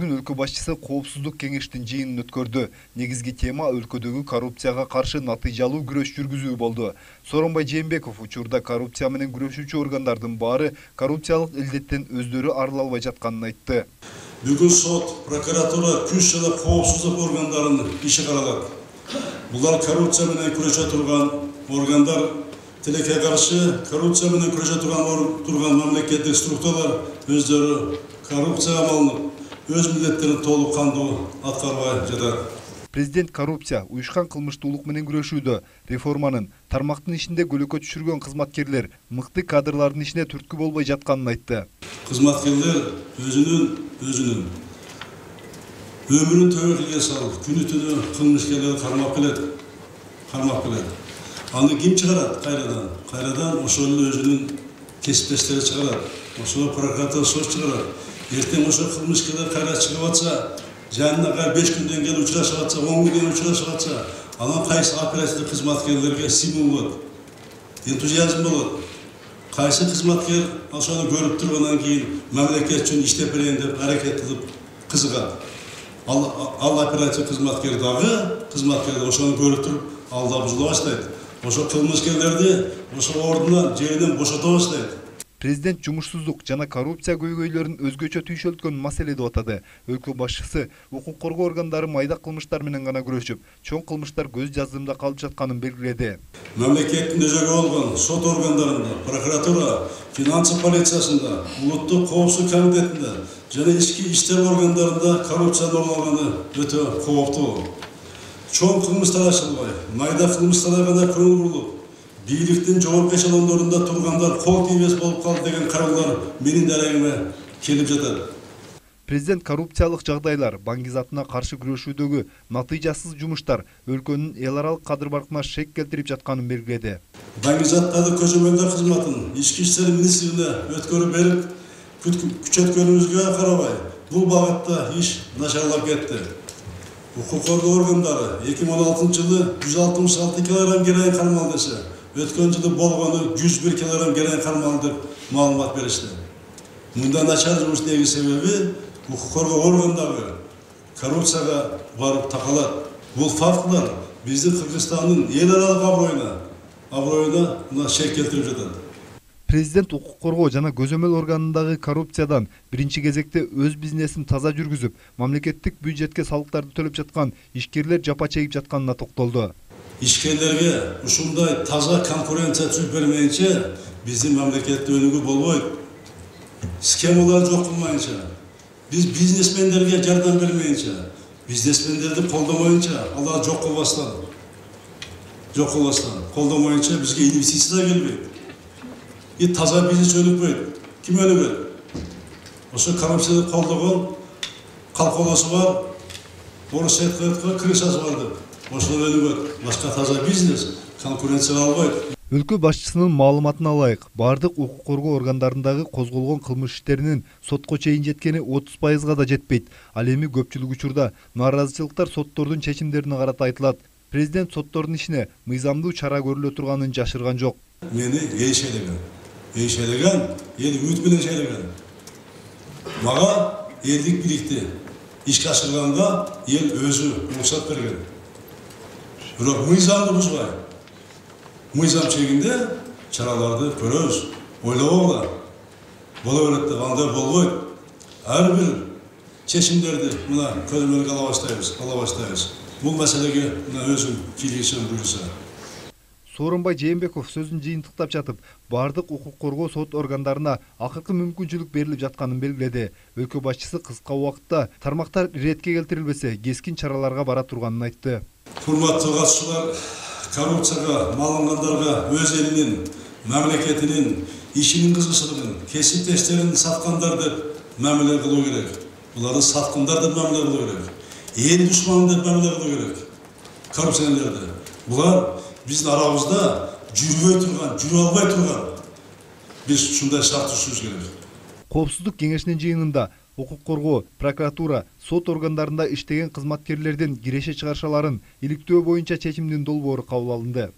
Бүгүн өлкө башчысы коопсуздук кеңештин жыйынын өткөрдү. Негизги тема өлкөдөгү коррупцияга каршы натыйжалуу күрөш жүргүзүү болду. Сооронбай Жээнбеков учурда коррупция менен күрөшүүчү органдардын баары коррупциялык илдеттен өздөрү арыла албай жатканын айтты. Бүгүн сот, прокуратура, күч жана коопсуздук органдарынын иши каралат. Булар коррупция менен күрөшө турган органдар, тилекке каршы коррупция менен күрөшө турган мамлекеттик структуралар өздөрү коррупцияга малынып, өз милдеттерин толук кандуу аткарбай жатат. Президент коррупция, уюшкан кылмыштуулук менен күрөшүүдө реформанын тармактын ишинде көлөкө түшүргөн кызматкерлер мыкты кадрлардын ишине түрткү болбой жатканын айтты. Кызматкерлер өзүнүн өмүрүн төбөлгө салып, күнү түнү кылмышкерлерди кармап келет. Аны ким чыгарат кайрадан ошол өзүнүн кесиптештери чыгарат. Ошол прокуратура сот чыгарат. Эртең ошол кылмышкерлер кайра чыгып атса, жанына 5 күндөн кийин учурашып атса, 10 күндөн кийин учурашып атса, анан кайсы оперативдик кызматкерлерге стимул болот, энтузиазм болот. Кайсы кызматкер ошону көрүп тургандан кийин мамлекет үчүн иштеп берейин деп аракет кылып кызыгат. Ал оперативдик кызматкер дагы ошону көрүп туруп алда бузула баштайт. Ошо кылмышкерлерди ошо ордунан жеринен бошото баштайт. Президент жумушсуздук жана коррупция көйгөйлөрүн өзгөчө түйшөлткөн маселе деп атады. Өлкө башчысы укук коргоо органдары майда кылмыштар менен гана күрөшүп, чоң кылмыштар көз жаздымда калып жатканын белгиледи. Мамлекеттин өзөгү болгон сот органдарында, прокуратура, финансы полициясында, улуттук коопсуздук комитетинде жана ички иштер органдарында коррупция орналганы өтө кооптуу. Чоң кылмыштар ачылбай, майда кылмыштарга гана көңүл бурулуп, бийликтин жогорку эшелондорунда тургандар кол тийбес болуп калды деген кайрылуулар менин дарегиме келип жатат. Президент коррупциялык жагдайлар, баңгизатына каршы күрөшүүдөгү натыйжасыз жумуштар өлкөнүн эл аралык кадыр баркына шек келтирип жатканын белгиледи. Баңгизаттарды көзөмөлдөө кызматын ички иштер министрлигине өткөрүп берип, күчөткөнүбүзгө карабай, бул багытта иш начарлап кетти. Укук коргоо органдары 2016-жылы 166 кг героин кармалды десе, өткөн жылы болгону 101 кг героин кармалды деп маалымат беришти. Мындай начар жумуш негизи себеби укук коргоо органдары коррупцияга барып такалат. Бул фактылар биздин Кыргызстандын эл аралык аброюна шек келтирип жатат. Президент укук коргоо жана көзөмөл органындагы коррупциядан биринчи кезекте өз бизнесин таза жүргүзүп, мамлекеттик бюджетке салыктарды төлөп жаткан ишкерлер жапа чегип жатканына токтолду. Ишкерлерге ушундай таза конкуренция түзүп бермейинче биздин мамлекетте өнүгүү болбойт. Схемалар жок кылмайынча, биз бизнесмендерге жардам бермейинче, бизнесмендерди колдомойынча, алар жок кылбастан, колдомойынча бизге инвестиция келбейт. Таза бизнес өнүкпөйт. Ким өнүгөт? Ошо коррупцияны колдогон колхозу бар, орус айткан крышасы бар деп. Ошол өнүгөт. Башка таза бизнес конкуренция албайт. Өлкө башчысынын маалыматына ылайык, бардык укук коргоо органдарындагы козголгон кылмыш иштеринин сотко чейин жеткени 30%га да жетпейт. Ал эми көпчүлүк учурда нааразычылыктар соттордун чечимдерине карата айтылат. Президент соттордун ишине мыйзамдуу чара көрүлө турганын жашырган жок. Мени эйшелеген, эл үмүт менен шейлеген. Мага элдик бийликти ишке ашырганга эл өзү уруксат берген. Бирок мыйзамды бузбай, мыйзам чегинде чараларды көрөбүз, ойлобогула. Боло берет деп андай болбойт. Ар бир чечимдерди мына көзөмөлгө ала баштайбыз. Бул маселеге өзүм кийлигишим буюрса. Сооронбай Жээнбеков сөзүн жыйынтыктап жатып, бардык укук коргоо сот органдарына акыркы мүмкүнчүлүк берилип жатканын белгиледи. Өлкө башчысы кыска убакытта тармактар иретке келтирилбесе, кескин чараларга бара турганын айтты. Урматтуу катышуулар, коррупцияга малынгандарга өз элинин, мамлекетинин, ишинин кызыкчылыгын, кесиптештерин саткандар деп мамиле кылуу керек. Буларды саткандар деп мамиле кылуу керек. Эл душманы деп мамиле кылуу керек. Коррупционерлерди. Булар биздин арабызда жүрө албай турган. Биз ушундай шарт түзүшүбүз керек. Коопсуздук кеңешинин жыйынында укук коргоо, прокуратура, сот органдарында иштеген кызматкерлердин киреше чыгарышаларын иликтөө боюнча чечимдин долбоору кабыл алынды.